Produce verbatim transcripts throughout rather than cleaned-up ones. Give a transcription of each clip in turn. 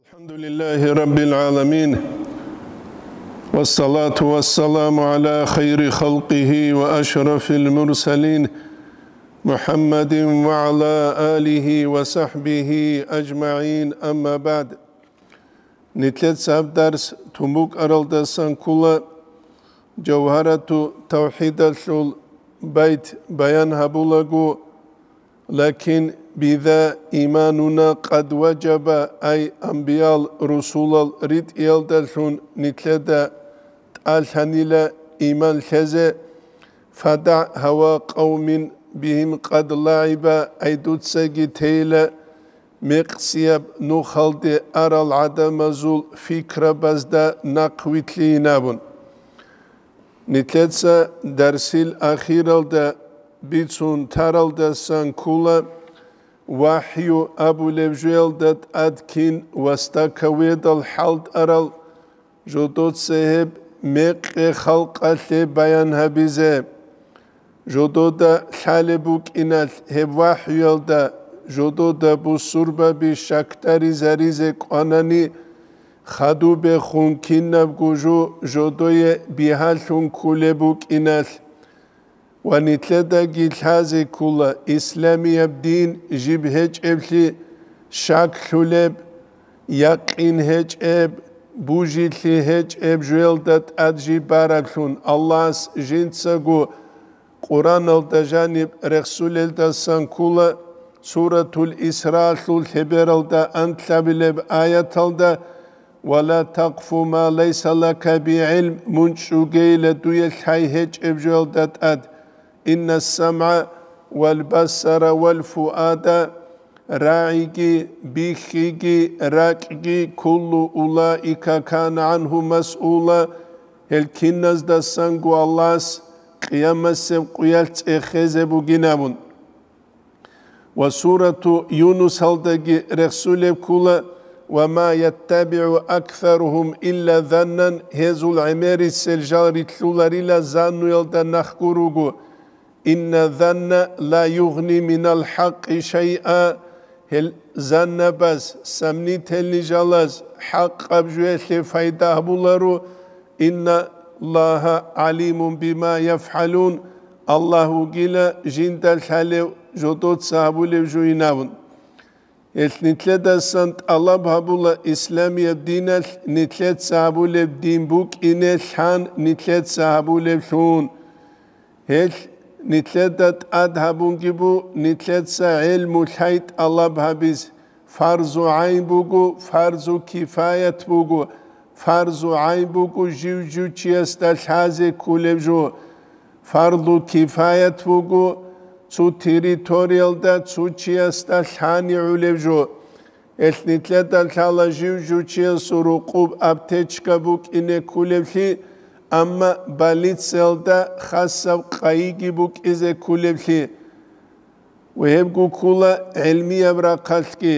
الحمد لله رب العالمين، والصلاة والسلام على خير خلقه وأشرف المرسلين، محمد وعلى آله وصحبه أجمعين، أما بعد. Нилъеца гьаб дарс тун букӀаралдасан ккола, Жавгьарату тавхӀидалъул байт баян гьабулаго, лакин биза имануна къад важаба, ай амбиял, русулал ритӀиялдалъун нилъеда тӀалъанила иман лъезе, фадагӀ гьава къавмин бигьим къад лагӀиба, ай дуцаги тейила мекъсияб нухалде арал гӀадамазул фикрабазда нахъвилълъийин абун. Нилъеца дарсил ахиралда бицун таралдасан ккола, вахӀю абулеб жоялда тӀад кин вастакаведал хӀалтӀарал, жодоца гьеб мекъи халкъалъе баян гьабизе. Жодода лъалеб букӀиналъ гьеб вахӀюялда, жодода бусурбаби щакдаризаризе кӀванани, хадубехун кинабго жо жодое бигьалъун кколеб букӀиналъ. Ва нилъедаги лъазе ккола исламияб дин жиб гьечӀеблъи, щаклъулеб, якъин гьечӀеб, бужилъи гьечӀеб жоялда тӀад жиб бараблъун. Аллагьас жинцаго Къураналда жаниб рехсулелдасан ккола, Суратул Исраалъул лъебералда анлъабилеб аяталда: «Ва ла такъфу ма лайса лака би гӀилм», мун чӀугейила дуе лъай гьечӀеб жоялда тӀад. «Инна самгӀа вал басара вал фуада», рагӀиги, бихьиги, ракӀги, «куллу улаика кана гӀангьу масъула», гьел киназдасанго Аллагьас къиямасеб къуялъ цӀехезе бугин абун. Ва сурату Юнусалдаги рехсулеб ккула: «Ва ма яттабигӀу аксаругьум илла заннан», гьезул гӀемерисел жал рилълъуларила заннуялда нахго руго. «Инна занна ла югъни минал хӀакъи шайъа», гьел заннабаз, сомнительный жалаз, хӀакъаб жоялъе пайда гьабуларо. «Инна Аллагьа гӀалимун бима яфгӀалун», Аллагь вугила жинда лъалев жодоца гьабулев жуйин абун. Гьелъ нилъедасан тӀалаб гьабула исламияб диналъ нилъеца гьабулеб дин букӀине лъан нилъеца гьабулеблъун. Гьелъ нилъеда тӀад гьабунги бу нилъеца гӀелму лъай тӀалаб гьабиз, фарзу гӀайн буго, фарзу кифаят буго, фарзу гӀайн буго жив-жив чиясда лъазе кколеб жо, фарзу кифаят буго цо территориялда цо чиясда лъани гӀолеб жо. Гьелъ нилъеда лъала жив-жив чиясул рукъуб аптечка букӀине кколеблъи, амма больницаялда хасаб къайиги букӀизе кколеблъи. Ва гьебго ккула гӀелмияб рахъалъги.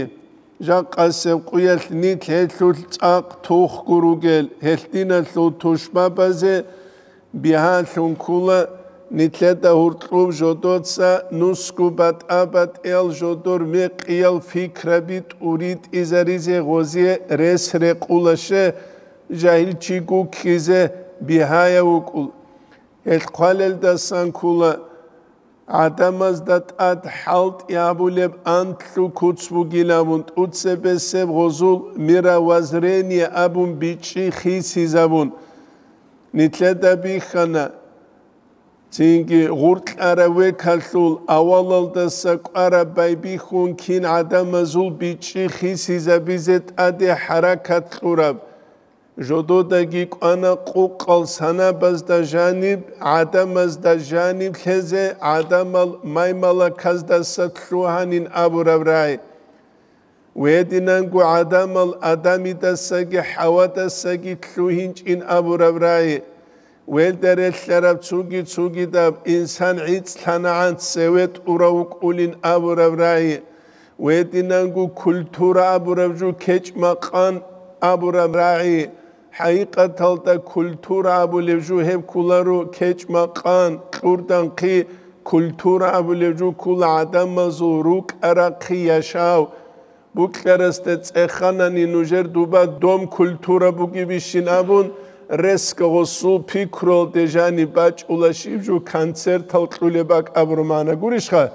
Жакъасеб къуялъ нилъ гьелъулъ цӀакъ тухго ругел, гьелъ диналъул тушбабазе бигьалъун ккула, нилъеда гьуркьуб жодоца нусго батӀа-батӀиял жодор мекъиял фикраби тӀуритӀизаризе гъозие рес рекъула, ще, жагьилчи гуккизе бигьаяв вукӀул. Гьелъ хъвалелдасан ккула, гӀадамазда тӀад хӀалтӀи гьабулеб анлъго куц бугилавун, тӀуцебесеб гъозул мировоззрение абун бичӀчӀи хисизабун. Нилъеда бихьана, цинги гъуркьарав векалъул авалалдаса кӀвараб байбихьун кин гӀадамазул бичӀчӀи хисизабизе тӀаде хӀаракат кьураб. Жододаги кӀвана къукъал санабазда жаниб, гӀадамазда жаниб лъезе, гӀадамал маймалаказдаса лъугьанин абураб рагӀи. Гьединанго гӀадамал Адамидасаги ХӀавадасаги лъугьинчӀин абураб рагӀи. Гьелда релълъараб цоги-цогидаб инсан гӀицӀлъанагӀан цеве тӀурав вукӀулин абураб рагӀи. Гьединанго культура абураб жо кечӀ-макъан абураб рагӀи. ХӀакъикъаталда культура абулеб жо гьеб кколаро кечӀ-макъан, кьурдан хъи, культура абулеб жо ккола гӀадамазул рукӀа-рахъи, яшав. Букьарасда цӀеханани нужер дуба дом культура бугебищин абун, ресго гъосул пикруялде жаниб бачӀула щиб жо концертал кьулеб бакӀ абураб магӀна гурищха?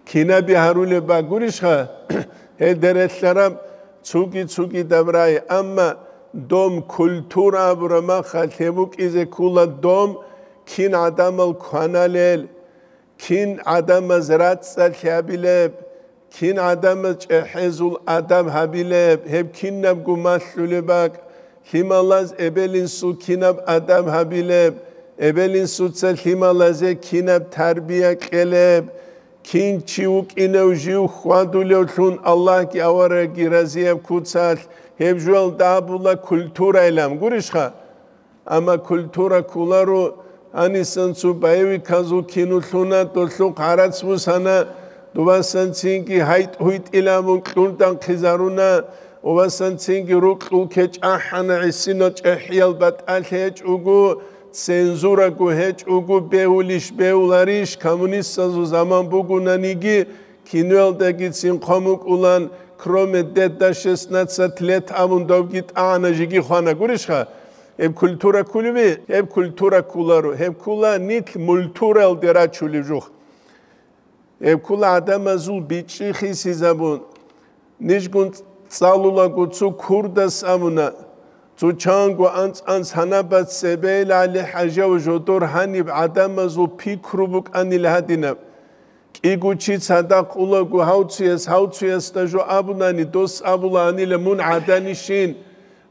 Кинаби гьарулеб бакӀ гурищха? Гьел дерелъараб цуги-цугидаб рай, амма дом культура абураб махалъ гьеб букӀизе ккула дом кин гӀадамал кваналел, кин гӀадамаз рацӀцӀалъи гьабилеб, кин гӀадамаз чӀехӀезул адаб гьабилеб, гьеб кинабго малъулеб бакӀ, лъималаз эбел-инсул кинаб адаб гьабилеб, эбел-инсуца лъималазе кинаб тарбия кьелеб, кин чи вукӀинев жив хьвадулевлъун Аллагьги аварагги разияб куцалъ, гьеб жоялда абула культурайилан гурищха? Амма культура кколаро, гьанисан цо боевиказул кино лъуна, долъухъ гӀарац бусана, дубасан цинги гьайтӀ-гьуйтӀила абун кьурдан хъизаруна, убасан цинги рукьул кечӀ ахӀана, гӀисинал чӀехӀиял батӀалъи гьечӀого, цензураго гьечӀого, бегьулищ бегьуларищ, коммунистазул заман бугунаниги, киноялдагицин хъван букӀулан, кроме деда шестнадцать лет абун добги тӀагӀана жиги хвана гурищха? Гьеб культура кколеби? Гьеб культура кколаро. Гьеб ккола нилъ мультуралде рачулеб жух. Гьеб ккола гӀадамазул бичӀчӀи хисизабун. Нижгун цӀалулаго цо курдас абуна, цо чанго анцӀ-анцӀ гьанаб цебе ГӀали ХӀажияв жодор гьаниб гӀадамазул пикру букӀанил гьадинаб. КӀиго чи цадахъ улаго гьав цуяс, гьав цуясда жо абунани, дос абулаанила: «Мун гӀаданищин?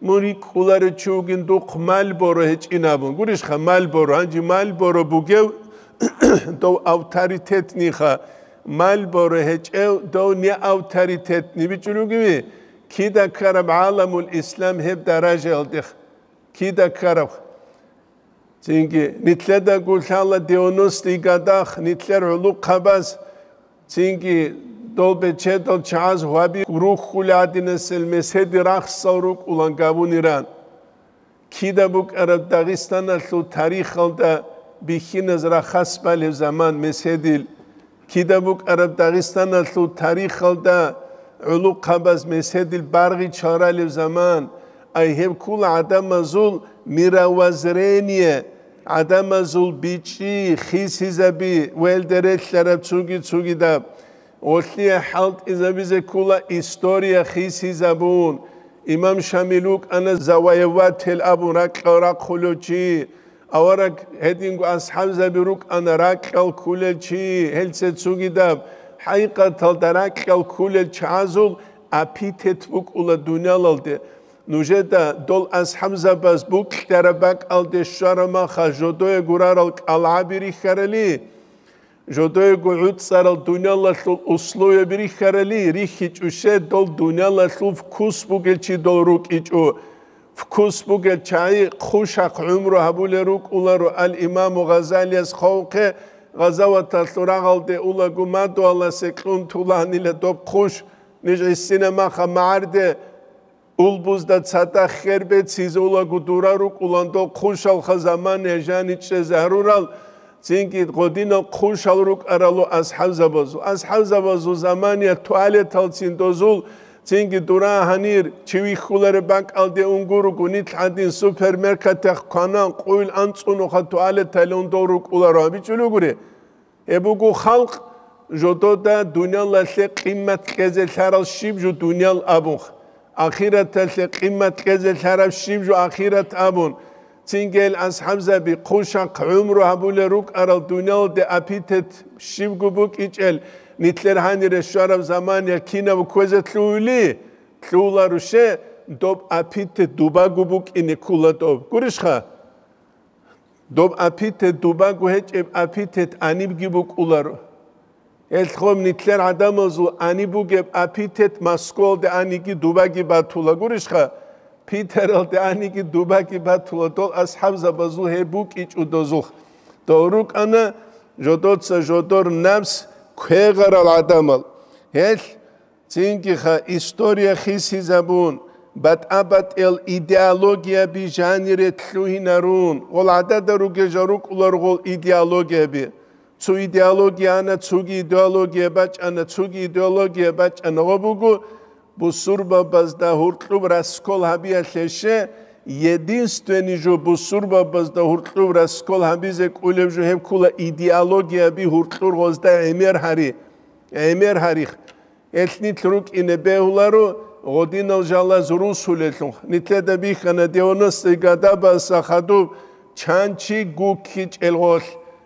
Мун рикӀкӀуларев чи вугин, духъ Мальборо гьечӀин», – абун. Гурищха, Мальборо, гьанже Мальборо бугев дов авторитетниха, Мальборо гьечӀев дов не авторитетни бичӀчӀулугеви? Кида ккараб гӀаламул ислам гьеб даражаялдех? Кида ккараб? Цинги, нилъедаго лъала девяностый годах нилъер гӀулухъабаз, цинги, дол бечедал чагӀаз гьваби рухьулел гӀадинасел меседи рахсал рукӀулан габунилан. Кида букӀараб Дагъистаналъул тарихалда бихьиназ рахас балев заман меседил, кида букӀараб Дагъистаналъул тарихалда гӀулухъабаз меседил баргъичал ралев заман, ай гьеб ккула гӀадамазул мировоззрение, гӀадамазул бичӀчӀи хисизаби ва гьелда релълъараб цуги-цугидаб. Гъолъие хӀалтӀизабизе ккула история хисизабун. Имам Шамил вукӀана завоеватель абун ракьал рахъулев чи. Авараг гьединго асхӀабзаби рукӀана ракьал ккулел чи, гьелце цугидаб. ХӀакъикъаталда ракьал ккулел чагӀазул апитет букӀула дуниялалде. Нужеда дол асхӀабзабаз букьараб бакӀалде щвараб маха жодое гурарал кӀалгӀаби рихьарали, жодоего гӀуцӀарал дуниялалъул условияби рихьарали, рихьичӀо щай дол дуниялалъул вкус бугел чи дол рукӀичӀо. Вкус бугел чагӀи хъушахъ гӀумру гьабулел рукӀуларо. Ал-Имаму Гъазалияс хъвавухъе, гъазаваталъул рагъалде улаго мадугьаласе кьун тулагьанила доб хъуш, ниж гӀисина маха магӀарде, улбузда цадахъ хер беццизе улаго дура рукӀулан дол хъушалха заман гьежани чӀезе гьарурал, цинги гъодинал хъушал рукӀаралу асхӀабзабазул. АсхӀабзабазул замания туалеталцин дозул, цинги дура гьанир, чи вихьулареб бакӀалде унгуруго, нилъ гӀадин супермаркетахъ кванан къуйл анцӀунуха туалеталиун дол рукӀуларо абичӀулугури. Гьеб буго халкъ жодода дуниялалъе къимат кьезе лъарал щиб жо дуниял абун, ахираталъе къимат кьезе лъараб щиб жо ахират абун. Цинги гьел асхӀабзаби хъушахъ гӀумру гьабулел рукӀарал дуниялалде апитет щибго букӀичӀел, нилъер гьанире щвараб замания кинаб кквезе лъугьули? Лъугьуларуше, доб апитет дубаго букӀине ккула доб. Гурищха? Доб апитет дубаго гьечӀеб апитет гьанибги букӀуларо. Гьелъ гъоб нилъер гӀадамазул гьаниб бугеб апитет Москвалде гьаниги дубаги батула. Гурищха, Питералде гьаниги дубаги батула, дол асхӀабзабазул гьеб букӀичӀо дозулъ. Дол рукӀана жодоца жодор напс квегъарал гӀадамал. Гьелъ Цингиха история хисизабун, батӀа-батӀиял идеологияби жанире лъугьинарун, гъол гӀадада ругел жал рукӀулар гъол идеологияби. Цо идеология ана, цоги идеология бачӀана, цоги идеология бачӀана. Гъо буго, бусурбабазда гьуркьуб раскол гьабиялъе ще, единственный жо бусурбабазда гьуркьуб раскол гьабизе кӀулеб жо гьеб ккула идеологияби гьуркьур гъозда гӀемер гьари, гӀемер гьарих. Гьелъ нилъ рукӀине бегьуларо гъодинал жалаз русулелъул. Нилъеда бихьана девяностые годабаса хадуб чан чи гуккичӀел гъолъ.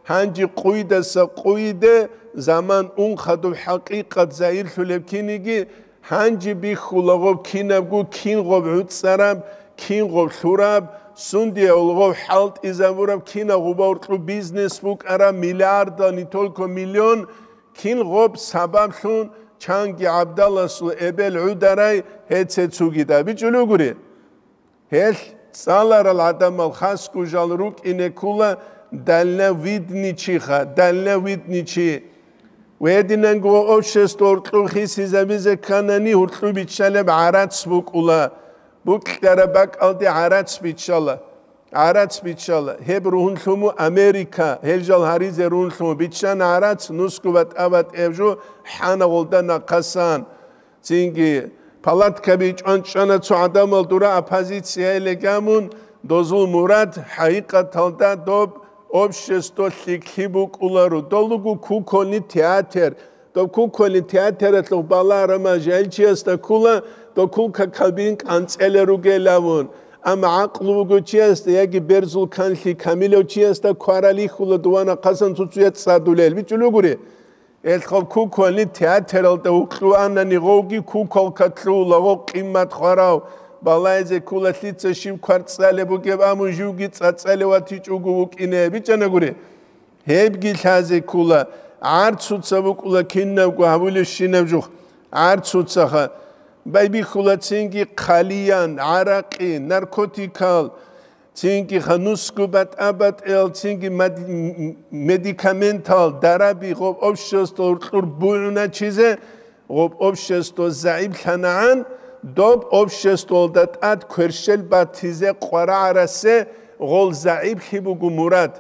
Гьанже къуйдаса къуйде заман ун хадуб хӀакъикъат загьирлъулеб киниги, гьанже бихьула гъоб кинабго, кин гъоб гӀуцӀараб, кин гъоб лъураб, сундиявул гъоб хӀалтӀизабураб, кинаб гъуба гьуркьуб бизнес букӀараб, миллиарда, не только миллион, кин гъоб сабаблъун чанги гӀабдаласул эбел гӀударай гьеце цугида бичӀулугури. Гьелъ цӀаларал гӀадамал хасго жал рукӀине ккула дальновидный чиха, дальновидный чи. Гьединанго общество гьуркьуб хисизабизе кканани гьуркьуб биччалеб гӀарац букӀула, букьараб бакӀалде гӀарац биччала. ГӀарац биччала. Гьеб ругьунлъуму Америка, гьел жал гьаризе ругьунлъуму биччана гӀарац, нусгу батӀа-батӀияб жо хӀана гъолда нахъасан. Цинги палаткаби чӀван-чӀвана цо гӀадамал дура оппозиция гьеле гамун, дозул мурад хӀакъикъаталда доб общество лъикӀлъи букӀуларо. Долугу кукольный театр, доб кукольный театралъух балагьарама жагьилчиясда ккула, доб кулка кабин кӀанцӀелел ругел абун. Амма гӀакълу буго чиясда яги берзул канлъи камилав чиясда кваралихьула дувана хъасан цуцуя цӀадулел. БичӀулугури, гьелъ гъаб кукольный театралда вукьуанани гъовги куколка лъугьула, гъов къиммат хварав, балагьизе ккула лъица щиб кварцӀалеб бугеб, амун живги цӀацӀалев ватичӀого вукӀине. БичӀанагури. Гьебги лъазе ккула, гӀарцуца букӀула кинабго гьабулебщинаб жух, гӀарцуцаха. Байбихьула цинги хъалиян, гӀаракъи, наркотикал, цинги ханусго батӀа-батӀиял, цинги мад-, м-, м-, медикаментал, дараби гъоб общество уркьур бугӀуначизе, гъоб общество загӀиплъанагӀан, доб обществоялда тӀад кверщел батизе къварагӀарасе гъол загӀиплъи буго мурад.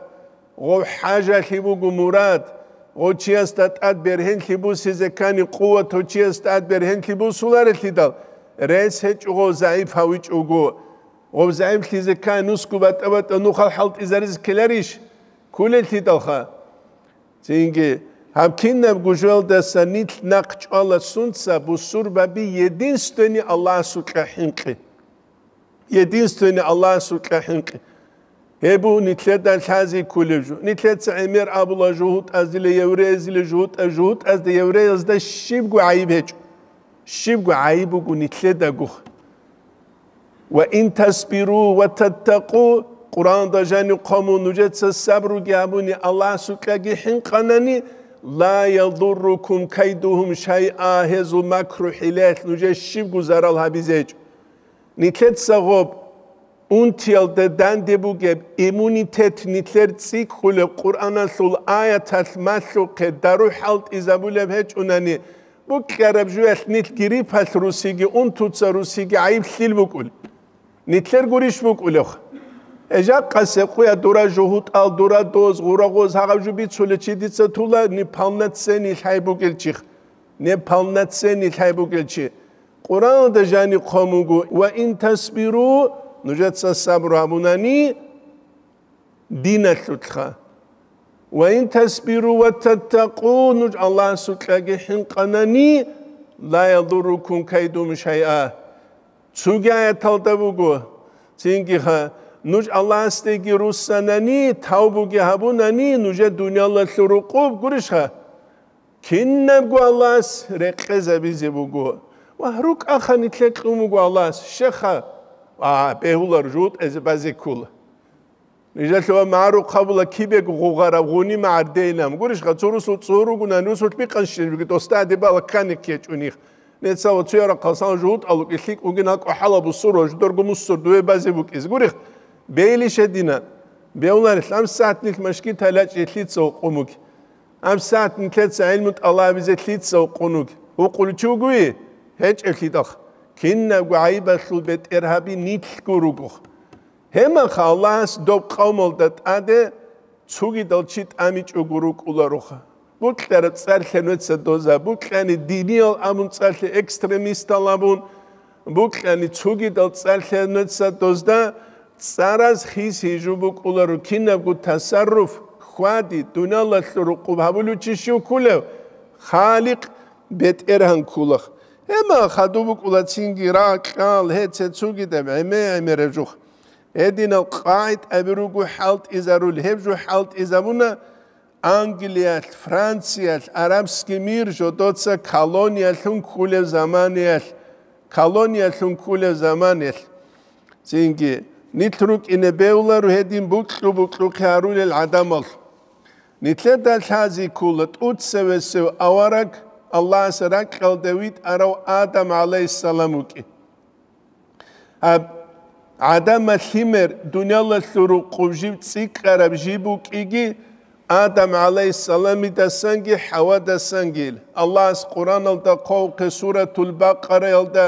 Гъов хӀажалъи буго мурад, гъов чиясда тӀад бергьенлъи бусизе ккани, къуват гъов чиясда тӀад бергьенлъи бусуларелъидал, рес гьечӀо гъов загӀип гьавичӀого. Гъов загӀиплъизе ккани, нусго батӀа-батӀа нухал хӀалтӀизаризе ккеларищ? Кколелъидалха. Цинги, гьаб кинабго жоялдаса нилъ нахъ чӀвала сунца бусурбаби единственный Аллагьасукьа хӀинкъи. Единственный Аллагьасукьа хӀинкъи. Гьеб буго нилъеда лъази кколеб жо. Нилъеца гӀемер абула жугьутӀазила, евреязила жугьутӀа, жугьутӀазда, евреязда щибго гӀайиб гьечӀо. Щибго гӀайиб буго нилъедагух. «Ва ин тасбиру ва таттакъу», Къуръанда жаниб хъвамун, нужеца сабруги гьабуни, Аллагьасукьаги хӀинкъанани, «ла ядуррукум кайдухум шайъа», гьезул макру-хӀилаялъ нужее щибго зарал гьабизе гьечӀо. Нилъеца гъоб, унтиялда данде бугеб иммунитет нилъер цӀикӀкӀулеб Къуръаналъул аяталъ малъухъе дару хӀалтӀизабулеб гьечӀунани, букьараб жуялъ нилъ гриппалъ русиги, унтуца русиги гӀайиблъил букӀул. Нилъер гурищ букӀулев? Гьежакъасе къуя дура жугьутӀал, дура доз, гъура гъоз гьагъаб жо бицулев чи дица тула, неполноценный лъай бугел чих. Неполноценный лъай бугел чи. Къуръанда жаниб хъван буго: «Ва ин тасбиру», нужеца сабру гьабунани диналъулъха. «Ва ин тасбиру ва таттакъу», нуж Аллагьасукьаги хӀинкъанани, «ла ядуррукум кайдухум шайъа». Цоги аяталда буго, цингиха, нуж Аллагьасдеги руссанани, тавбуги гьабунани, нужер дуниялалъул рукъуб гурищха? Кинабго Аллагьас рекъезабизе буго. Ва рукӀаха нилъер кьун буго Аллагьас, щеха, а, бегьулар жутӀезе базе ккула. Нижалъула магӀарухъ гьабула кибего гъугъараб гъуни магӀардейилан. Гурищха, цо русул цӀур ругунани, русулъ бикъанщинабиги, досда гьадибала ккани ккечӀунихъ. Нецава цуяра хъасан жугьутӀалуги лъикӀ угин гьакӀу хӀалаб бусурва жударго муссур дуе базе букӀиз. Гурихъ, бейли шедина. Беуларелъ, гьабсагӀат нилъ машгитал лъачӀи лъица гьукъун буги? ГьабсагӀат нилъеца гӀилму тӀалабизе лъица гьукъун буги? Гьукъулев чи вугуй? ГьечӀеблъидахъ. Кинабго гӀайибалъул бетӀергьаби нилъго ругохъ. Гьемаха Аллагьас доб къавмалда тӀаде цогидал чи тӀамичӀого рукӀулароха. Букьараб цӀарлъа нуца доза, букьани диниял абун цӀарлъа, экстремистал абун, букьани цогидал цӀарлъа нуца дозда цӀараз хис гьижу букӀуларо, кинабго тасарруф, хьвади, дуниялалъул рукъуб гьабулев чи щив кколев? Халикъ БетӀергьан кколаха. Гьеб мехалъ хадуб букӀула цинги ракьал, гьеце цогидаб гӀеме-гӀемераб жух. Гьединал къагӀидаби руго хӀалтӀизарулел, гьеб жо хӀалтӀизабуна Англиялъ, Франциялъ, арабский мир жодоца колониялъун кколеб заманаялъ, колониялъун кколеб заманаялъ. Цинги, нилъ рукӀине бегьуларо гьедин букьу-букьухъе гьарулел гӀадамал. Нилъеда лъази ккола тӀоцевесев авараг Аллагьас ракьалда витӀарав Адам гӀалайгьиссалам вукӀин. Гьаб, гӀадамал лъимер дуниялалъул рукъуб жиб цӀикӀкӀараб жиб букӀиги, Адам гӀалайгьиссаламидасанги ХӀавадасанги. Аллагьас Къуръаналда хъвавухъе Суратул Бакъараялда,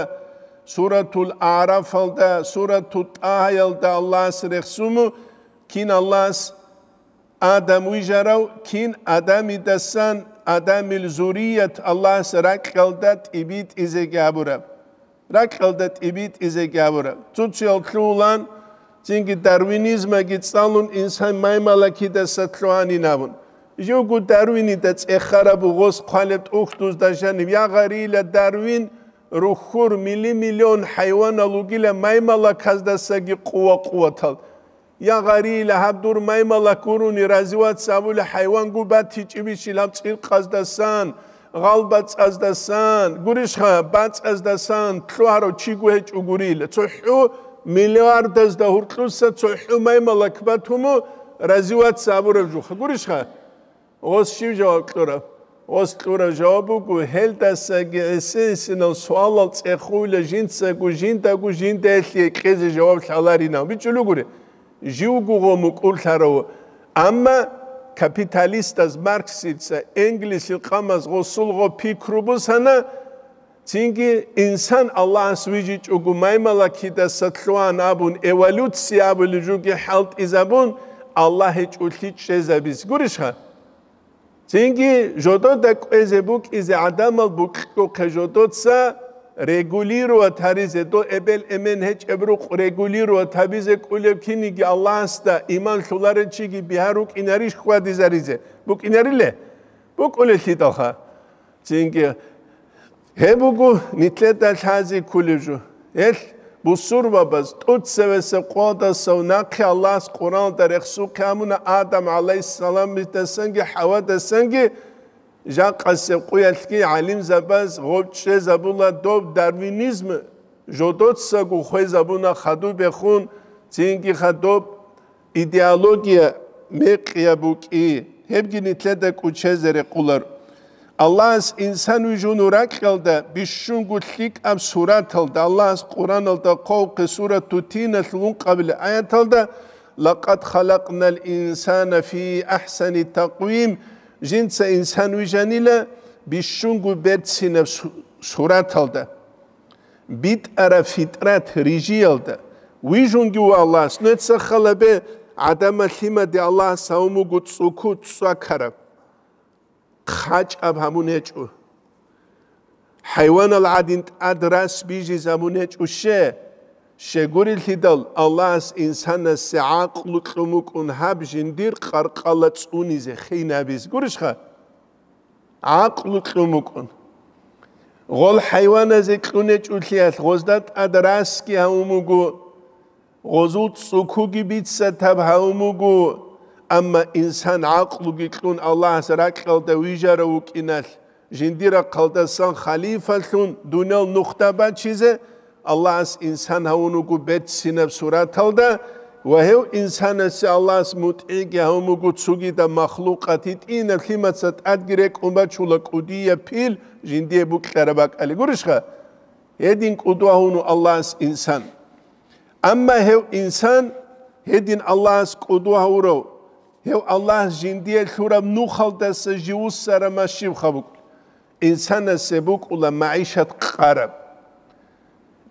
Суратул АгӀрафалда, Суратул ТӀагьаялда Аллагьас рехсуму, кин Аллагьас Адам вижарав, кин Адамидасан, Адамил зурият Аллагьас ракьалда тӀибитӀизеги гьабураб. Ракьалда тӀибитӀизеги гьабураб. Цо-цоял лъугьулан, цинги дарвинизмаги цӀалун, инсан маймалакидаса лъугьанин абун. Живго Дарвинида цӀехараб бугъос хъвалеб тӀухьдузда жаниб: «Я гъарила, Дарвин, рухьур мили-миллион хӀайванал вугила маймалаказдасаги къува-къуватал. Я гъарила, гьаб дур маймалак гурони, развиваться гьабула хӀайвангу батичӀебищил гьаб цӀиркъаздасан, гъалбацӀаздасан, гурищха, бацӀаздасан лъугьарав чиго гьечӀо гурила. ЦохӀо миллиардазда гьуркьуса цохӀо маймалак батуму, развиваться гьабураб жуха, гурищха?» Гъос щив жаваб кьураб? Гъос кьураб жаваб буго, гьелдасаги гӀиси-гӀисинал суалал цӀехула жинцаго жиндаго жиндаялъе кьезе жаваб лъаларинав. БичӀчӀулугури, живго гъо мукӀурлъарав. Амма капиталистаз, Марксица, Энгельсил къамаз гъосул гъо пикру бусана, цинги инсан Аллагьас вижичӀого маймалакидаса лъугьан абун, эволюция абулеб жоги хӀалтӀизабун, Аллагь гьечӀолъи чӀезабизе. Гурищха? Цинги жодода кӀвезе букӀизе гӀадамал букьухъе жодоца регулировать гьаризе, дол эбел-эмен гьечӀеб рукъ регулировать гьабизе кӀолеб киниги Аллагьасда иман лъуларел чиги бигьа рукӀинарищ хьвадизаризе? БукӀинариле? БукӀулелъидалха. Цинги Гьеб буго нилъеда лъази кколеб жо. Гьелъ бусурбабаз тӀоцевесеб къоялдасав нахъе Аллагьас Къуръаналда рехсухъе гьабуна Адам гӀалайгьиссаламидасанги ХӀавадасанги. Жакъасеб къоялъги гӀалимзабаз гъоб чӀезабула доб дарвинизм жодоцаго хвезабуна хадубехун, цинги хадуб идеология мекъияб букӀи, гьебги нилъеда кӀучезе рекъолар. Аллагьас инсан вижун ракьалда бищунго лъикӀаб сураталда, Аллагьас Къуръаналда хъвавухъе Сурату Тиналъул ункъабилеб аяталда: «Лакъад халакънал инсана фи ахӀсани такъвим», жинца инсан вижанила бищунго берцинаб су-, сураталда. БитӀараб фитрат рижиялда вижунги ва Аллагьас, нуца халабе, гӀадамал лъимаде Аллагьас гьавун буго цӀуку цӀвакараб, хъачӀаб гьабун гьечӀо. ХӀайванал гӀадин тӀад рас бижизабун гьечӀо ще, щегурелъидал Аллагьас инсанасе гӀакълу кьун букӀун гьаб жиндир къаркъала цӀунизе, хинабиз. Гурищха? ГӀакълу кьун букӀун. Гъол хӀайваназе кьун гьечӀолъиялъ гъозда тӀад расги гьавун буго, гъозул цӀукуги бицатаб гьавун буго, амма инсан гӀакълуги кьун Аллагьас ракьалда вижарав вукӀиналъ, жиндир рахъалдасан халифалъун дуниял нухда бачизе, Аллагьас инсан гьавун вуго берцинаб сураталда ва гьев инсанасе Аллагьас мутӀигӀги гьавун вуго цогидаб махлукъат, гьитӀинаб лъимаца тӀадги рекӀун бачула кӀудияб пил жиндие букьараб бакӀалде. Гурищха? Гьедин кӀудва гьавуна Аллагьас инсан. Амма гьев инсан гьедин Аллагьас кӀудва гьавурав, гьев Аллагьас жиндие лъураб нухалдаса живуссараб машибха букӀун. Инсанасе букӀула магӀишат къараб.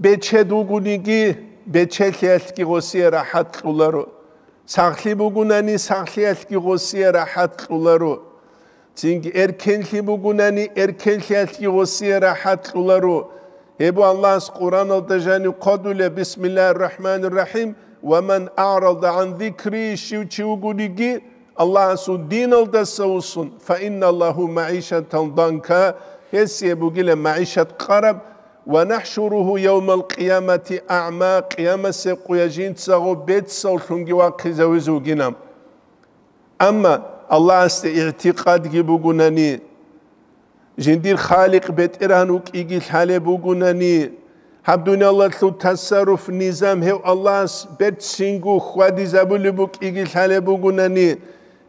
Бечед вугониги, бечелъиялъги гъосие рахӀат кьоларо. Сахлъи бугунани, сахлъиялъги гъосие рахӀат кьоларо. Цинги эркенлъи бугунани, эркенлъиялъги гъосие рахӀат кьоларо. Гьеб Аллагьас Къуръаналда жанив хъвадулеб: «Бисмиллагьир рахӀманир рахӀим, ва ман аърада гӀан зикри», щив чи вугониги, Аллагьасул диналдаса вуссун, «фа инна лагьу магӀишатан данка», гьесие бугила магӀишат къараб, «ва нахӀшуругьу явмал къиямати аъма», къиямасеб къуя жинцаго бецавлъунги вахъизавизе вугинан. Амма Аллагьасде игӀтикъадги бугунани, жиндир Халикъ БетӀергьан вукӀиги лъалеб бугунани, гьаб дуниялалъул тасарруф, низам гьев Аллагьас берцинго хьвадизабулеб букӀиги лъалеб бугунани,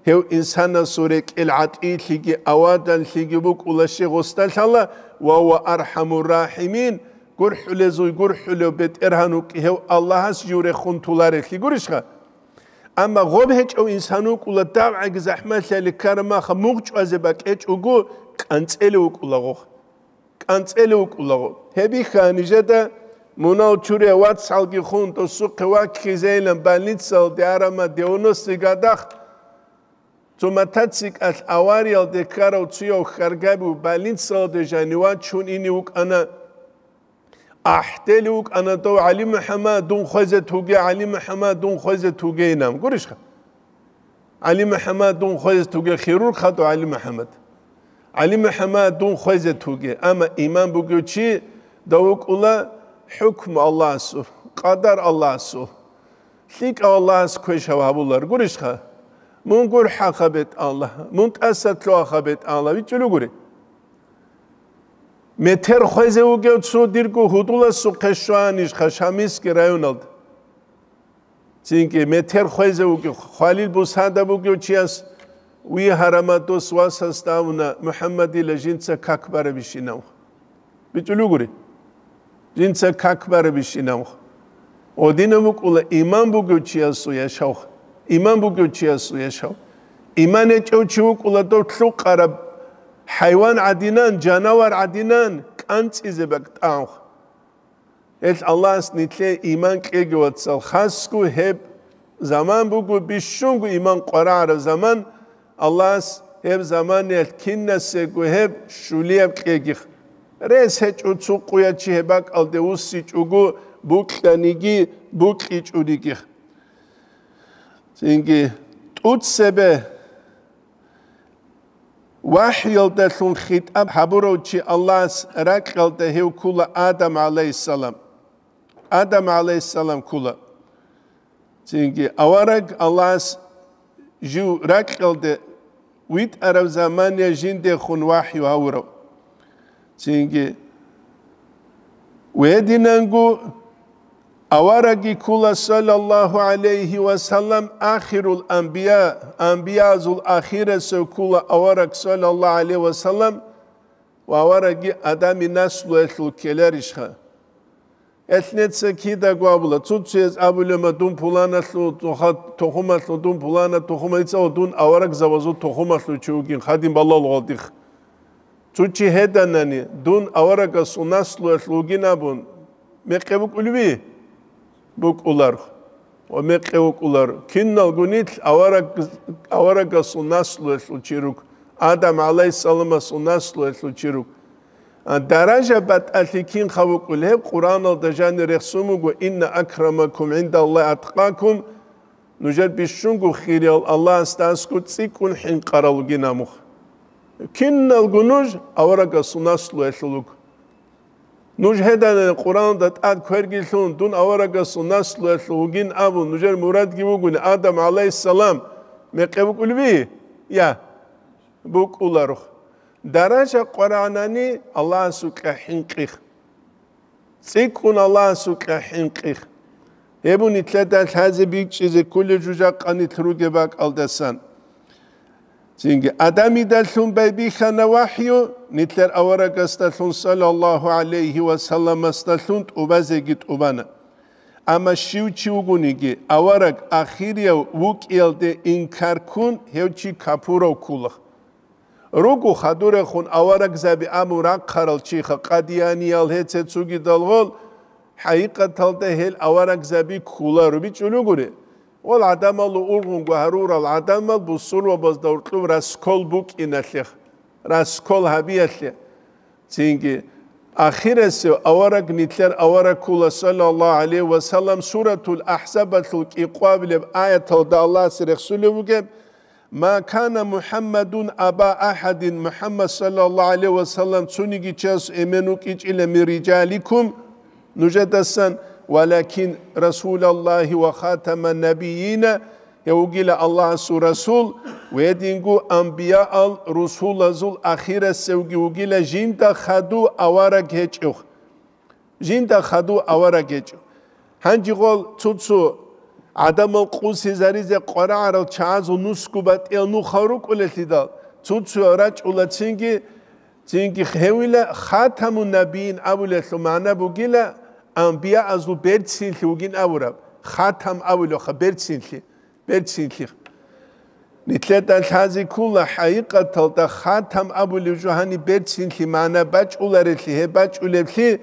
гьев инсанасул рекӀел гӀатӀилъиги аваданлъиги букӀула щай гъосда лъала, ва гьува архӀамур рахӀимин, гурхӀулезул гурхӀулев БетӀергьан вукӀи гьев Аллагьас жив рехун толарелъи гурищха? Амма гъоб гьечӀев инсан вукӀула, дагӀаги захӀмалъали ккараб маха мугъ чӀвазе бакӀечӀого, кӀанцӀелев вукӀулаго. КӀанцӀелев вукӀулаго. Гьеб бихьа нижеда, мунал чурия вацгӀалги хун, досухъе ваккизейилан больницалде арама девяностый годах цо мотоциклалъ авариялде ккарав цояв хьаргабив больницалде жанив вачун ине вукӀана. АхӀдели вукӀана дов: «ГӀалимухӀаммад, дун хвезе туге, ГӀалимухӀаммад, дун хвезе туге», инан. Гурищха? «ГӀалимухӀаммад, дун хвезе туге», хирург хадув ГӀалимухӀаммад. «ГӀалимухӀаммад, дун хвезе туге». Амма иман бугев чи дов вукӀула хӀукму Аллагьасул, къадар Аллагьасул. ЛъикӀав Аллагьас квешав гьабулар. Гурищха? Мун гурхӀаха, БетӀалла, мун тӀаса лъугьаха, БетӀалла, вичӀчӀулев гури. Метер хвезе вугев цо дирго гьудуласухъе щванищха Шамилский районалда? Цинги метер хвезе вугев, хвалил бусада бугев чияс вигьарама дос васасда абуна, МухӀаммадила жинца как барабищинав. БичӀулев гури. Жинца как барабищинав. Гъодинаб букӀула иман бугев чиясул яшав. Иман бугев чиясул яшав. Иман гьечӀев чи вукӀула дов лъукъараб хӀайван гӀадинан, жанавар гӀадинан кӀанцӀизе бакӀ тӀагӀав. Гьелъ Аллагьас нилъее иман кьеги, вацал, хасго гьеб заман буго, бищунго иман къварагӀараб заман, Аллагьас гьеб заманиялъ кинасего гьеб щулияб кьегих. Рес гьечӀо цо къуя чи гьеб бакӀалде вуссичӀого, букьаниги букьичӀонигих. Цинги тӀуцебе вахӀйалдалъун хитӀаб гьабурав чи Аллагьас ракьалда гьев ккула Адам гӀалайгьиссалам. Адам гӀалайгьиссалам ккула. Цинги авараг Аллагьас жив ракьалде витӀараб замания жиндехун вахӀю гьавурав. Цинги гьединанго аварагги ккула, саллаллагьу гӀалайгьи ва саллам, ахирул анбия, анбиязул ахирасев ккула авараг, саллаллагьу гӀалайгьи ва саллам, ва аварагги Адами наслуялъул ккеларищха? Гьелъ нецин кидаго абула, цо-цояз абулема, дун пуланалъул тухумалъул, дун пулана тухумалъул, дун аварагзабазул тухумалъул чи вугин, хадин балагьулев гъодих. Цо чи гьеданани, дун аварагасул наслуялъул вугин абун, мекъи букӀулеби? БукӀулар. Ва мекъи вукӀулар. Киналго нилъ авараг-, аварагасул наслуялъул чи рук, Адам гӀалайгьиссаламасул наслуялъул чи рук. А даража батӀалъи кинха вукӀул, гьеб Къуръаналда жанир рехсун буго: «Инна акрамакум гӀиндаллагьи аткъакум», нужер бищунго хириял Аллагьасда аскӀов цӀикӀкӀун хӀинкъарал вугин абун. Киналго нуж аварагасул наслуялъул вуго. Нуж гьедани Къуръаналда тӀад квергилъун, дун аварагасул наслуялъул вугин абун, нужер мурадги вугони, Адам гӀалайгьиссалам мекъи букӀулеби? Я, букӀуларо. Даража къварагӀанани Аллагьасукьа хӀинкъих. ЦӀикӀкӀун Аллагьасукьа хӀинкъих. Гьеб нилъеда лъазе бичӀчӀизе кколеб жужахъа нилъ ругеб бакӀалдасан. Цинги Адамидалъун байбихьана вахӀю, нилъер аварагасдалъун, саллаллагьу гӀалайгьи ва салламасдалъун тӀубазеги тӀубана. Амма щив чи вугониги, авараг ахирияв вукӀиялде инкар ккун, гьев чи капурав ккула. Руго хадурехун аварагзаби абун рахъарал чиха, къадияниял, гьеце цугидал гъол, хӀакъикъаталда гьел аварагзаби кколаро, бичӀчӀулев гури. Гьал гӀадамал ургъунго гьарурал гӀадамал бусурбабазда гьоркьоб раскол букӀиналъе, раскол гьабиялъе. Цинги ахирасев авараг нилъер авараг ккола, саллаллагьу гӀалайгьи ва саллам, Суратул АхӀзабалъул кӀикъоабилеб аяталда Аллагьас рехсулев вугеб: «Ма кана МухӀаммадун аба ахӀадин», МухӀаммад, саллаллагьу гӀалайгьи ва саллам, цониги чияс эмен вукӀинчӀила, «мин рижаликум», нужедасан, «валакин Расулаллагьи ва хатаман набийина», гьев вугила Аллагьасул Расул, ва гьединго анбияал, русулазул ахирасевги вугила, жинда хадув авараг гьечӀев. Жинда хадув авараг гьечӀо. Гьанже гьал цо-цо гӀадамал къосизаризе къварагӀарал чагӀазул нусго батӀиял нухал рукӀулелъидал, цо-цо рачӀула цинги, цинги гьевила хатамун набиин абулелъул магӀна бугила, анбияазул берцинлъи вугин абураб. Хатам абулевха, берцинлъи. Берцинлъи. Нилъеда лъазе ккола хӀакъикъаталда хатам абулев жо гьаниб берцинлъи магӀна бачӀуларелъи, гьеб бачӀулеблъи,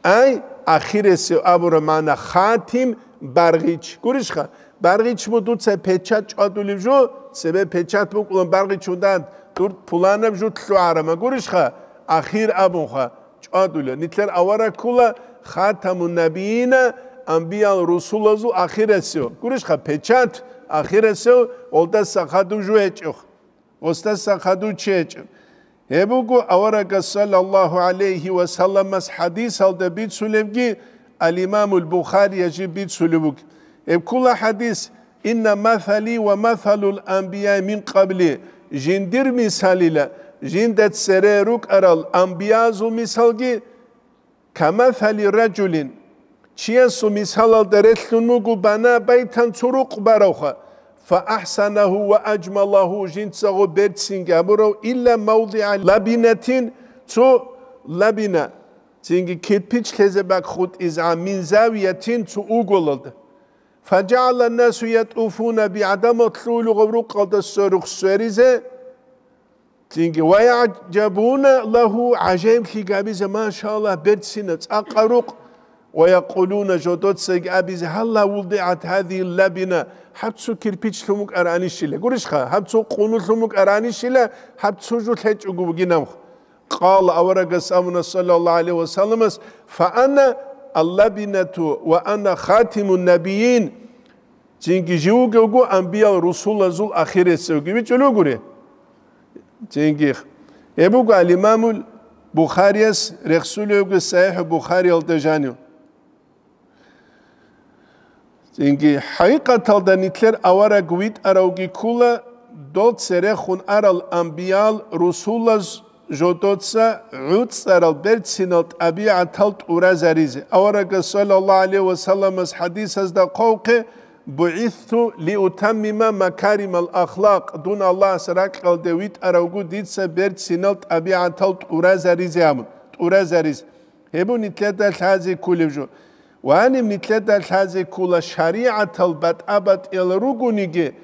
ай, ахиресев абураб магӀна хатим, баргъич. Гурищха? Баргъич бу дуца печать чӀвадулев жо, цебе печать букӀулан баргъич ундан, дур пуланаб жо лъугӀарама. Гурищха? Ахир абунха. ЧӀвадула. Нилъер авараг ккола хатамун набиина, анбиял русулазул ахирасев. Гурищха, печать ахирасев, гьалдаса хадув жо гьечӀев. Гьасдаса хадув чи гьечӀев. Гьеб буго аварагас саллаллагьу гӀалайгьи ва салламас хӀадисалда бицулебги, ал-Имамул Бухарияс жиб бицулеб буго. Гьеб ккола хӀадис: «Инна масали ва масалул анбияи мин къабли», жиндир мисалила, жинда цере рукӀарал анбиязул мисалги, «камасали ражулин», чиясул мисалалда релълъун буго, «бана байтан», цо рукъ баравха, «фа ахсанагьу ва ажмалагьу», жинцаго берцинги гьабурав, «илла мавдигӀа лабинатин», цо лабина, цинги кирпич лъезе бакӀ хутӀизегӀан, «мин завиятин», цо уголалда. «Фажагьала насу ятӀуфуна би», гӀадамал лъугьулаго рукъалда сверухъ сверизе, цинги, «ва ягӀжабуна лагьу», гӀажаиблъи гьабизе, «машаллагь, берцина, цӀакъа рукъ», «ва якъулуна», жодоцаги абизе, «гьалла вудигӀат гьазигьи лабина», гьаб цо кирпич лъун букӀаранищила, гурищха, гьаб цо къуну лъун букӀаранищила, гьаб цо жо лъечӀого бугинаб. Къала, аварагас абуна, саллаллагьу гӀалайгьи ва салламас: «Фа ана аллабинату ва ана хатимун набиин». Цинги жив вугевго анбиял русулазул ахиресевги, бичӀчӀулев гури. Цинги гьеб буго ал-Имамул Бухарияс рехсулевги СахӀихӀу Бухариялда жанив. Цинги хӀакъикъаталда нилъер авараг витӀаравги ккула, дол церехун арал анбиял русулаз жодоца гӀуцӀарал берцинал тӀабигӀатал тӀуразаризе. Аварагас, саллаллагьу гӀалайгьи ва салламас, хӀадисазда хъвавухъе: «БугӀисту лиутаммима макаримал ахлакъ», дун Аллагьас ракьалде витӀаравгу дица берцинал тӀабигӀатал тӀуразаризе абун, тӀуразаризе. Гьеб нилъеда лъазе кколеб жо. Ва гьаниб нилъеда лъазе ккола шаригӀатал батӀа-батӀиял ругониги,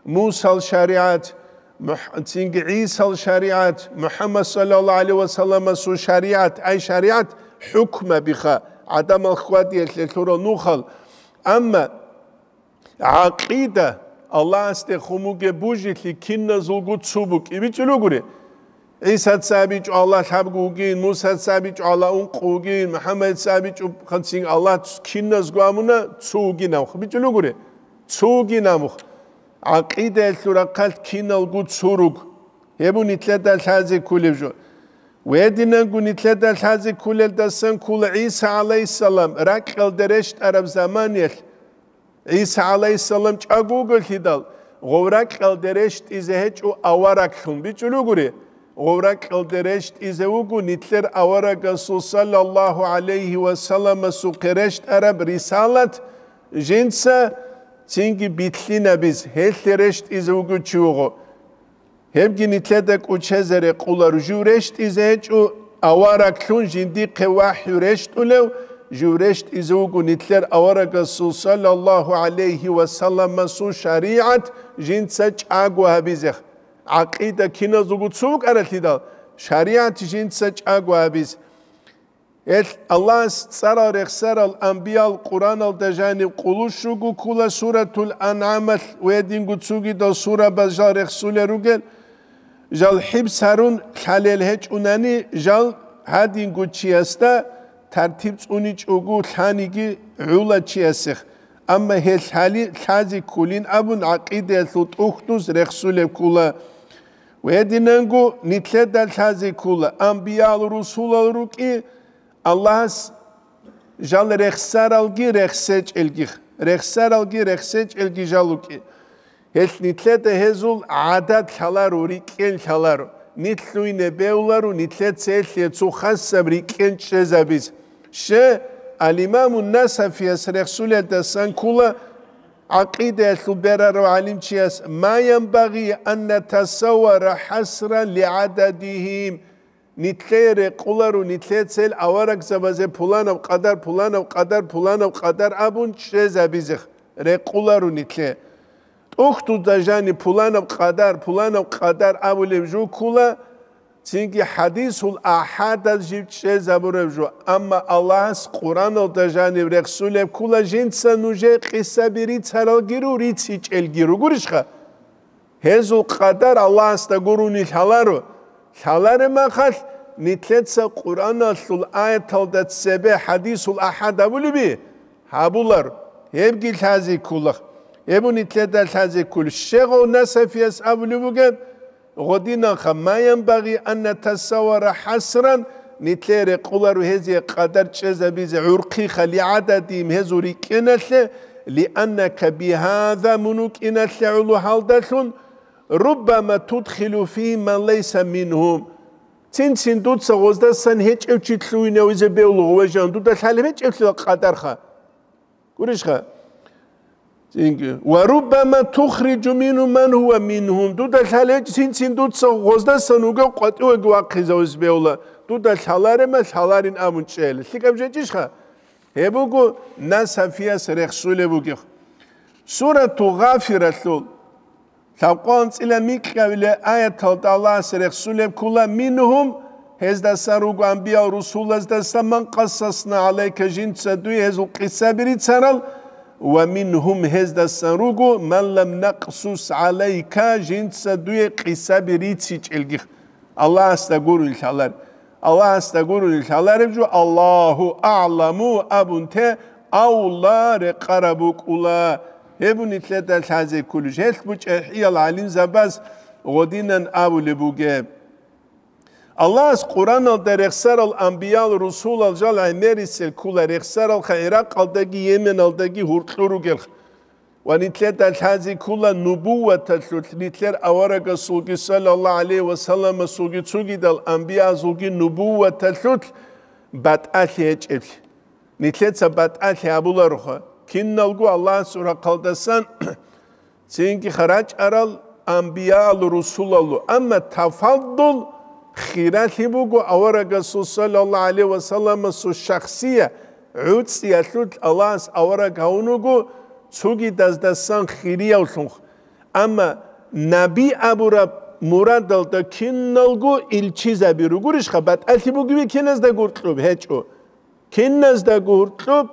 Мусал шаригӀат, МухӀ-, цинги ГӀисал шаригӀат, МухӀаммад саллаллагьу гӀалайгьи ва салламасул шаригӀат, ай шаригӀат, хӀукмабиха, гӀадамал хьвадиялъе лъурал нухал. Амма гӀакъида, Аллагьасде хун бугеб бужилъи киназулго цо букӀи, бичӀчӀулев гури. ГӀисаца абичӀо Аллагь лъабго вугин, Мусаца абичӀо Аллагь ункъо вугин, МухӀаммадица абичӀо ханцин Аллагь киназго амуна цо вугин абха, бичӀчӀулев гури. Цо вугин абух. ГӀакъидаялъул рахъалъ киналго цо руг. Гьеб нилъеда лъазе кколеб жо. Гьединанго нилъеда лъазе кколелдасан ккола ГӀиса гӀалайгьиссалам ракьалде рещтӀараб заманиялъ. ГӀиса гӀалайгьиссалам чӀаго вуголъидал, гъов ракьалде рещтӀизе гьечӀо авараглъун, бичӀчӀулев гури. Гъов ракьалде рещтӀизе вуго нилъер аварагасул саллаллагьу гӀалайгьи ва салламасухъе рещтӀараб рисалат, жинца цинги билълъинабиз, гьелъе рещтӀизе вуго чи вуго. Гьебги нилъеда кӀочезаре ккола, жив рещтӀизе гьечӀо авараглъун жиндихъе вахӀю рещтӀулев, жив рещтӀизе вуго нилъер аварагасул саллаллагьу гӀалайгьи ва салламасул шаригӀат жинца чӀаго гьабизе. ГӀакъида киназулго цо вукӀаралъидал, шаригӀат жинца чӀаго гьабизе. Гьел Аллагьас цӀарал рехсарал амбиял Къуръаналда жаниб къулущ руго ккола Суратул АнгӀамалъ ва гьединго цогидал сурабаз жал рехсулел ругел, жал хӀибс гьарун лъалел гьечӀунани, жал гьадинго чиясда тартиб цӀуничӀого лъаниги гӀула чиясех, амма гьел лъали лъазе кколин абун гӀакъидаялъул тӀухьдуз рехсулеб ккола. Ва гьединанго нилъеда лъазе ккола, амбиял-русулал рукӀи, Аллагьас жал рехсаралги рехсечӀелги, рехсаралги рехсечӀелги жал рукӀи. Гьелъ нилъеда гьезул гӀадат лъаларо, рикӀкӀен лъаларо, нилъ лъугьине бевларо, нилъеца гьелъие цо хасаб рикӀкӀен чӀезабизе. Ще, ал-Имамун Насафияс рехсулелдасан ккола, гӀакъидаялъул берарав гӀалимчияс: «Ма янбагъи ан натасаввара хӀасран лигӀададигьим». Нилъее рекъоларо, нилъеца гьел аварагзабазе пуланаб къадар, пуланаб къадар, пуланаб къадар абун чӀезабизе рекъоларо нилъее. ТӀухьдузда жаниб пуланаб къадар, пуланаб къадар абулеб жо ккола, цинги хӀадисул ахӀадаз жиб чӀезабураб жо, амма Аллагьас Къуръаналда жаниб рехсулеб ккола жинца нужее къисаби рицаралги ру, рицичӀелги ругурищха? Гьезул къадар Аллагьасда гурони лъаларо. Лъалареб махалъ, нилъеца Къуръаналъул аяталда цебе хӀадисул ахӀад абулеби? Гьабулар. Гьебги лъазе ккола. Гьеб нилъеда лъазе кколеб. Щегъов Насафияс абулеб бугеб, гъодинанха: «Ма янбагъи ан натасаввара хӀасран», нилъее рекъоларо гьезие къадар чӀезабизе гӀурхъиха, «лигӀададигьим», гьезул рикӀкӀеналъе, «лианнака бигьаза», мун вукӀиналъе гӀоло гьалдалъун, «руббама тудхилу фигьим ман лайса мингьум». Цин-цин дуца гъоздасан гьечӀев чи лъугьинавизе бевлугъ, вежан, дуда лъалеб гьечӀеблъила къадарха. Гурищха? Цинги. «Ва руббама тухриджу мингьум ман гьува мингьум». Дуда лъалеб гьечӀ, цин-цин дуца гъоздасан вугев къватӀивеги вахъизавизе бевла. Дуда лъаларема, лъаларин абун чӀела. ЛъикӀаб жечӀищха? Гьеб буго Насафияс рехсулеб бугеб. Сурату Гъафиралъул лъабкъоялда анцӀила микьабилеб аяталда Аллагьас рехсулеб ккола: «Мингьум», гьездасан руго, амбиял русулаздаса, «ман къассасна гӀалайка», жинца дуе гьезул къисаби рицарал, «ва мингьум», гьездасан руго, «ман лам накъсус гӀалайка», жинца дуе къисаби рицичӀелги. Аллагьасда гурони лъалар. Аллагьасда гурони лъалареб жо, «Аллагьу агӀламу» абун те авла рекъараб букӀула. Гьеб нилъеда лъазе кколищ. Гьелъ бучӀахӀиял гӀалимзабаз гъодинан абулеб бугеб. Аллагьас Къуръаналда рехсарал амбиял, русулал жал гӀемерисел ккола, рехсаралха ГӀиракъалдаги Йеменалдаги гьуркьур ругелха. Ва нилъеда лъазе ккола нубуваталъулъ, нилъер аварагасулги, саллаллагьу гӀалайгьи ва салламасулги, цогидал амбиязулги нубуваталъулъ батӀалъи гьечӀеблъи. Нилъеца батӀалъи гьабулароха. Киналго Аллагьасул рахъалдасан цинги рачӀарал амбиял, русулалу. Амма тафаддул, хиралъи буго аварагасул, саллаллагьу гӀалайгьи ва салламасул шахсия, гӀуцӀиялъулъ Аллагьас авараг гьавун вуго цогидаздасан хириявлъунха. Амма наби абураб мурадалда киналго илчизаби ругурищха, батӀалъи бугеби киназда гуркьуб? ГьечӀо. Киназда гуркьуб,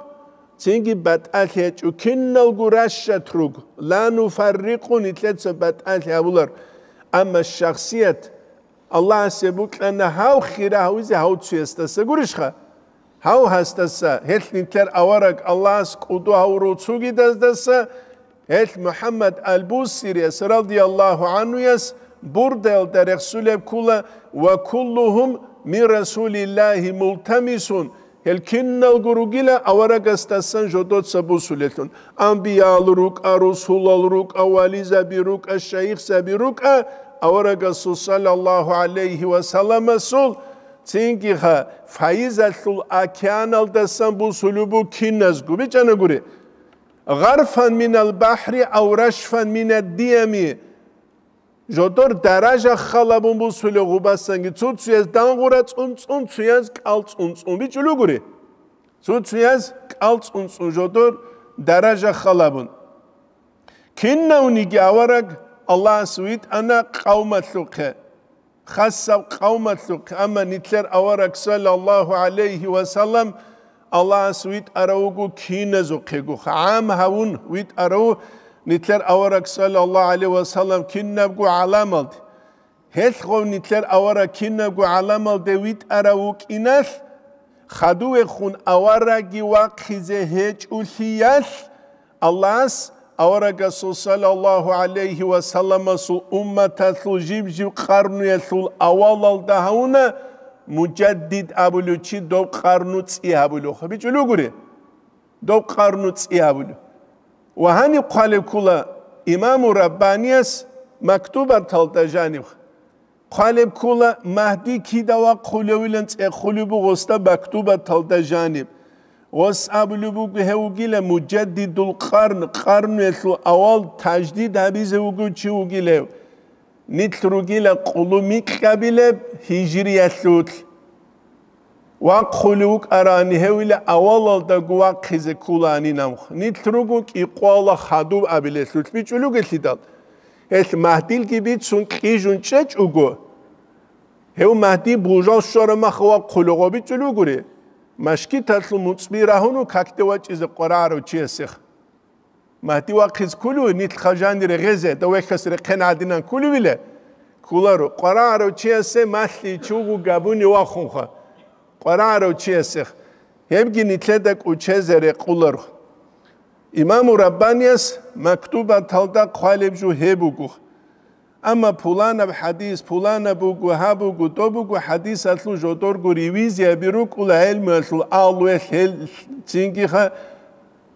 цинги батӀалъи гьечӀо, киналго ращад руго, ла нуфаррикъу, нилъеца батӀалъи гьабулар. Амма шахсият, Аллагьасе букьана гьав хира гьавизе гьав цуясдаса гурищха? Гьав гьасдаса, гьелъ нилъер авараг Аллагьас кӀудо гьавурав цугидаздаса, гьелъ МухӀаммад ал-Бусирияс, радияллагьу гӀанхуяс, бурдаялда рехсулеб ккула: «Ва куллугьум мин Расулиллагьи мултамисун», гьел киналго ругила аварагасдасан жодоца бусулелъун. Амбиял рукӀа, русулал рукӀа, вализаби рукӀа, шайихзаби рукӀа, аварагасул, саллаллагьу гӀалайгьи ва салламасул, цинги гьа, файизалъул океаналдасан бусулеб бу киназго. БичӀанагури: «Гъарфан минал бахӀри ав рашфан минад диями». Жодор даража халабун бусулев гъубасанги, цо-цояз дангъура цӀун-цӀун, цояз кӀал цӀун-цӀун бичӀулугури. Цо-цояз кӀал цӀун-цӀун жодор даража халабун. Кинавниги авараг Аллагьас витӀана къавмалъухъе. Хасаб къавмалъухъ, амма нилъер авараг саллаллаху гӀалайхи ва саллам Аллагьас витӀарав вуго киназухъего, гӀам гьавун витӀарав нилъер авараг саллаллаху гӀалайхи ва саллам кинабго гӀаламалде. Гьелъ гъов нилъер авараг кинабго гӀаламалде витӀарав вукӀиналъ, хадувехун аварагги вахъизе гьечӀолъиялъ, Аллагьас аварагасул саллаллаху гӀалайхи ва салламасул умматалъул жиб-жиб къарнуялъул авалалда гьавуна мужаддид абулев чи доб къарну цӀи гьабулев. БичӀулев гури? Доб къарну цӀи гьабулев. Ва гьаниб хъвалеб ккола имаму Раббанияс мактубаталда жаниб. Хъвалеб ккола Магьди кида вахъулевилан цӀехулеб буго гъосда мактубаталда жаниб. Гъос абулеб буго гьев вугила мужаддидул къарн, къарнуялъул авал таждид гьабизе вугев чи вугилев. Нилъ ругила къулумикьабилеб гьижриялъулъ. Вахъулев вукӀарани гьевила авалалдаго вахъизе кколаанин амх. Нилъ руго кӀикъвала хадуб абилелъулъ бичӀулугелъидал. Гьелъ Магьдилги бицун кьижун чӀечӀого, гьев Магьди бужал щвара мах вахъулев гъо бичӀулугури. Машкиталъул муцӀби рагьуну какде вачӀизе къварагӀарав чиясех. Магьди вахъиз кколев нилъ хъажани регъезе, давехьас рехъен гӀадинан кколевиле? Кколаро. КъварагӀарав чиясе малъи чугу габуни вахунха. КъварагӀарав чиясех. Гьебги нилъеда кӀучезе рекъуларо. Имаму Раббанияс мактубаталда хъвалеб жо гьеб буго. Амма пуланаб хӀадис, пуланаб буго, гьаб буго, доб буго хӀадисалъул жодорго ревизияби рукӀула гӀелмуялъул агьлуялъ гьел, цинги ха-,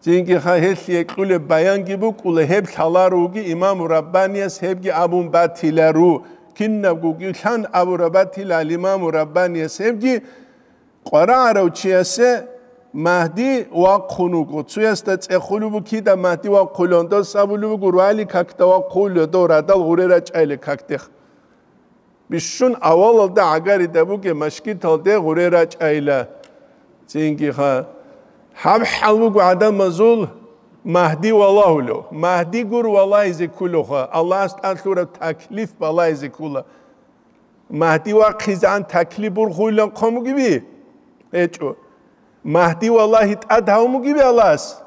цинги ха-, гьелъие кьулеб баянги букӀула, гьеб лъаларуги имаму Раббанияс гьебги абун батилару, кинабгоги лъан абураб батилал имаму Раббанияс гьебги, къварагӀарав чиясе Магьди вахъун вуго. Цуясда цӀехулеб букида Магьди вахъулев, дос абулеб буго, руали какда вахъулев, дов радал гъуре рачӀайиле какдех. Бищун авалалда гӀагарида бугеб машкиталде гъуре рачӀайила. Цинги ха-, гьаб хӀал буго гӀадамазул Магьди валагьулев. Магьди гур валагьизе кколевха, Аллагьас тӀад лъураб таклиф балагьизе ккола. Магьди вахъизегӀан таклиф бургъуйилан хъван бугеби? ГьечӀо. Магьди валагьи тӀад гьавун бугеби Аллагьас?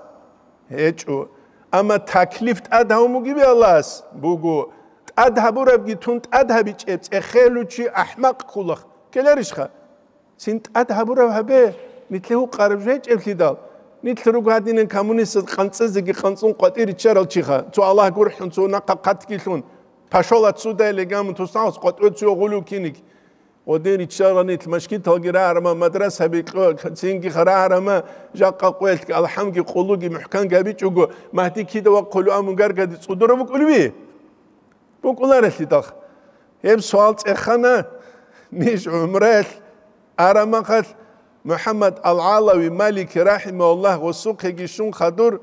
ГьечӀо. Амма таклиф тӀад гьавун бугеби Аллагьас? Буго. ТӀад гьабурабги тун тӀад гьабичӀеб цӀехелучи ахӀмакъ ккулах. Ккеларищха? Цин тӀад гьабураб гьабе, нилъе гьукъараб жо гьечӀеблъидал. Нилъ руго гьадинан коммунистаз къанцӀизеги къанцӀун къватӀир риччарал чиха, цо Аллагь гурхӀун, цо нахъа хъатгилъун, пошёл отсюда или гамун тусалъ къватӀуе цо гъулев киниг. Гъодин риччарал нилъ машгиталги рагьарама, мадрасаби кьо-, цинги рагьарама, жакъа къоялъги алхӀамги къулуги мухӀканги гьабичӀого, Магьди кида вахъулев амун гаргади цӀудура букӀулеби? БукӀуларелъидал. Гьеб суал цӀехана ниж гӀумраялъ арамахалъ МухӀаммад ал-ГӀалави Малики рахӀимагьуллагь гъосухъеги щун хадур,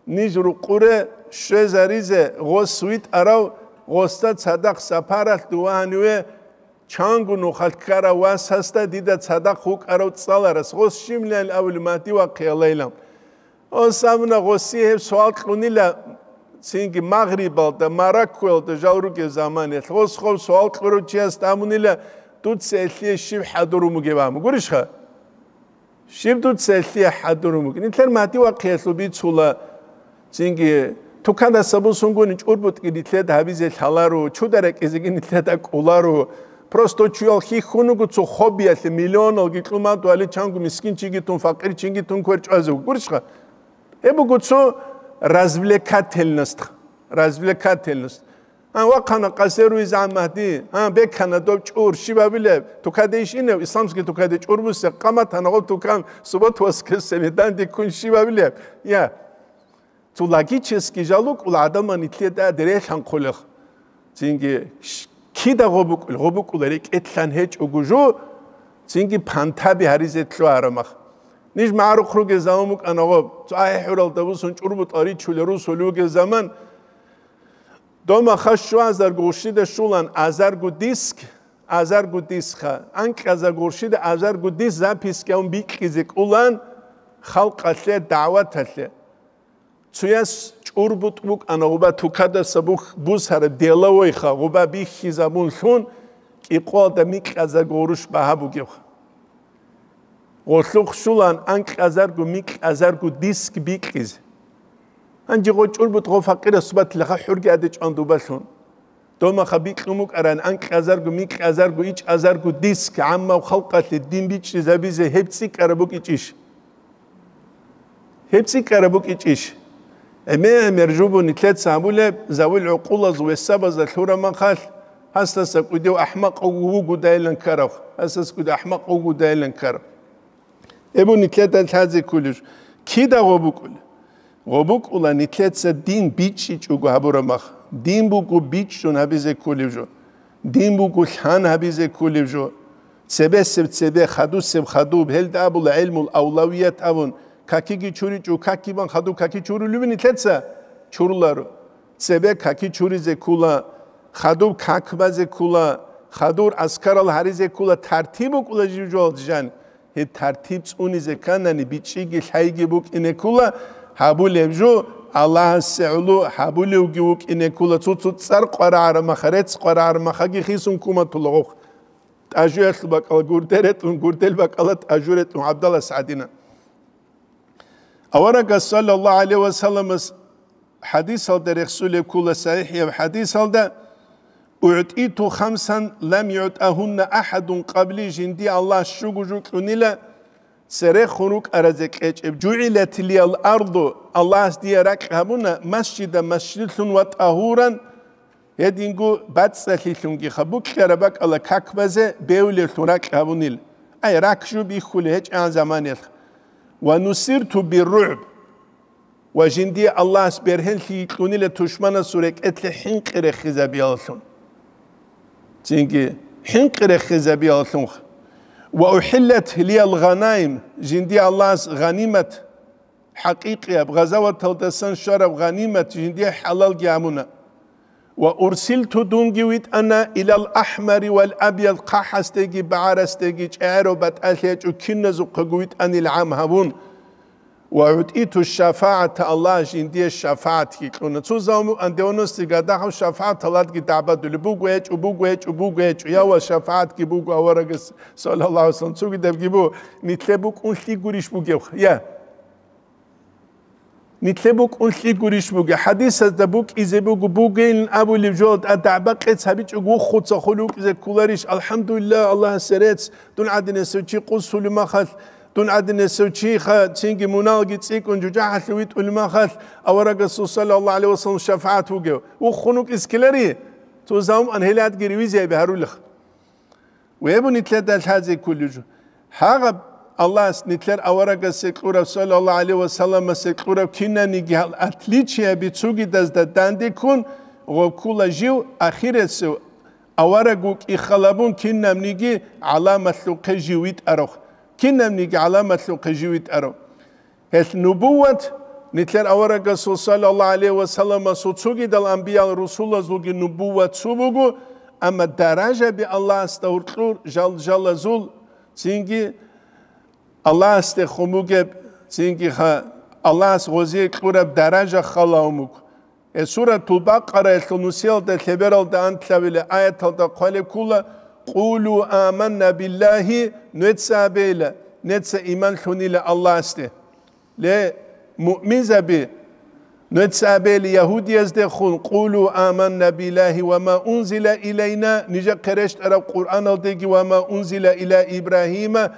ниж рукъуре щвезаризе гъос витӀарав, гъосда цадахъ сапаралъ дувагьаниве чанго нухалъ ккарав васасда дида цадахъ вукӀарав цӀаларас гъос щибилан абули Магьди вахъиялайилан. Гъос абуна, гъоси гьеб суал кьунила цинги Магърибалда, Мароккоялда жал ругеб заманиялъ. Гъос гъоб суал кьурав чиясда абунила, дуца гьелъие щиб хӀадурун бугеб абун. Гурищха? Щиб дуца гьелъие хӀадурун бугеб? Нилъер Магьди вахъиялъул бицула, цинги тукадаса бусунгуни чӀурбутӀги нилъеда гьабизе лъаларо, чуда рекӀизеги нилъеда кӀоларо. Просто чуял хьихьун вуго цо хоббиялъе, миллионалги кьумадуали чанго мискинчиги тун, факъирчиги тун кверчӀвазе вуго. Гурищха? Гьеб буго цо развлекательность, развлекательность. А, вахъана къасер визгӀан Магьди, а, бекана доб чӀур, щиб абилеб? Тукаде иш инев, исламский тукаде чӀур бусе, къаматана гъоб тукан, субботу-воскресенье данде ккун щиб абилеб? Я. Цо логический жал вукӀула гӀадаман нилъеда дерелъан хъулех. Цинги ш-, кида гъо букӀул, гъо букӀула рекӀелъан гьечӀого жо, цинги пантаби гьаризе лъугьарамах. Ниж магӀарухъ ругел заман букӀана гъоб, цо ахӀи-хӀуралда бусун чӀурбутӀал ричулел русулев вугев заман, дома хаш щуазарго гъурщида щулан азарго диск, азарго дискха, анкьазарго гъурщида азарго диск записки авун бикьизе кӀулан халкъалъе, дагӀваталъе. Цуяс чӀурбутӀ букӀана гъуба тукадаса бух-, бусараб деловойха гъуба бихьизабунлъун, кӀикъоялда микьазарго гъурущ багьа бугебха. Гъолъухъ щулаан анкьазарго микьазарго диск бикьизе. Гьанже гъо чӀурбутӀ гъо факъирас батилаха хӀурги адечӀван дубалъун. Домаха бикьун букӀаран анкьазарго микьазарго ичӀазарго диск гӀаммав халкъалъе дин бичӀчӀизабизе гьеб цӀикӀкӀараб букӀичӀищ? Гьеб цӀикӀкӀараб букӀичӀищ? ГӀемер-гӀемер жубу нилъеца гьабулеб, завул гӀукъулаз весабазда лъурамахъалъ, гьасдаса кӀудев ахмакъ вугудайилан ккарав, гьасдаса кӀудев ахмакъ вугудайилан ккарав. Эбу нилъеда лъазе кколеб жо. Кида гъо букӀула? Гъо букӀула нилъеца дин бичӀчӀичӀого гьабураб мах. Дин буго бичӀчӀун гьабизе кколеб жо. Дин буго лъан гьабизе кколеб жо. Цебесеб цебе, хадусеб хадуб, гьелда абула гӀилмул авлавият абун, какиги чуричӀо, какибан хадуб каки чурулеб нилъеца? Чуруларо. Цебе каки чуризе ккула, хадуб как базе ккула, хадур аскарал гьаризе ккула, тартиб букӀула жив жоялде жан. Гьеб тартиб цӀунизе кканани, бичӀчӀиги лъайги букӀине ккула, гьабулеб жо Аллагьасе гӀоло гьабулевги вукӀине ккула, цо-цо цӀар къварагӀараб маха, рецц къварагӀараб махаги хисун куматула гъохъ. ТӀажуялъул бакӀала гурде ретӀун, гурдел бакӀала тӀажу ретӀун, ГӀабдаллас гӀадина. Аварагас, саллаллагьу гӀалайгьи ва салламас, хӀадисалда рехсулеб ккула, сахӀихӀияб хӀадисалда: «УгӀтӀиту хамсан лам югӀтӀагьунна ахӀадун къабли», жинди Аллагьас щуго жо кьунила церехун рукӀаразе кьечӀеб. «ЖугӀилат лиял арду», Аллагьас дие ракь гьабуна, «масжидан», масжидлъун, «ва тӀагьуран», гьединго бацӀцӀалъилъунгиха, букьараб бакӀала как базе бевлевлъун ракь гьабунил. Ай, рак жо бихьулеб гьечӀегӀан заманаялъ. «Ва нусирту бирругӀб», ва жиндие Аллагьас бергьенлъи кьунила тушманасул рекӀелъе хӀинкъи рехизабияллъун. Цинги хӀинкъи рехизабияллъунха. «Ва ухӀиллат лиял гъанаим», жиндие Аллагьас гъанимат, хӀакъикъияб, гъазаваталдасан щвараб гъанимат жиндие хӀалалги гьабуна. «Ва урсилту», дунги витӀана, «илал ахӀмари вал абияд», хъахӀасдеги багӀарасдеги, чӀегӀерав батӀалъи гьечӀо киназухъего витӀанил гӀам гьабун. «Ва гӀутӀиту шафагӀата», Аллагь жиндие шафагӀатги кьуна. Цо заман девяностые годахъав шафагӀат Аллагьги дагӀбадулеб буго гьечӀо, буго гьечӀо, буго гьечӀо. Я ва шафагӀатги буго аварагас, саллаллагьу гӀалайгьи ва саллам, цогидабги буго, нилъе букӀунлъи гурищ бугебха? Я. Нилъе букӀунлъи гурищ бугеб? ХӀадисазда букӀизе буго, бугейилан абулеб жо, а дагӀба-къец гьабичӀого вуххуца хулев вукӀизе кколарищ? АлхӀамдулиллагь, Аллагьасе рецц, дун гӀадинасев чи къусулеб махалъ, дун гӀадинасев чиха цинги муналги цӀикӀкӀун жужахӀалъув витӀулеб махалъ, аварагасул, саллаллагьу гӀалайгьи ва саллам, шафагӀат вугев. Вуххун вукӀизе ккелари? Цо заман гьелъадги ревизия гьарулеха. Вебу нилъеда лъазе кколев жо. Гьагъаб Аллагьас нилъер аварагасе кьураб, саллаллагьу гӀалайгьи ва салламасе кьураб кинабниги гьал отличияби цогидазда данде ккун, гъо ккула жив ахирасев авараг вукӀин халабун кинабниги гӀаламатлъухъе жив витӀарав. Кинабниги гӀаламатлъухъе жив витӀарав. Гьелъ нубувват, нилъер аварагасул, саллаллагьу гӀалайгьи ва салламасул, цогидал анбиял-русулазулги нубувват цо буго, амма даражаби Аллагьасда гьоркьор жал-жалазул, цинги Аллагьасдехун бугеб, цинги ха-, Аллагьас гъозие кьураб даража халаун буго. Гье, Суратул Бакъараялъул нусиялда лъебералда анлъабилеб аяталда хъвалеб ккола: «Къулу аманна биллагьи», нуеца абейила, неца иман лъунила Аллагьасде. Ле, муъминзаби, нуеца абейила ягьудияздехун: «Къулу аманна биллагьи ва ма унзила илайна», нижехъе рещтӀараб Къуръаналдеги: «Ва ма унзила иля Ибрагьима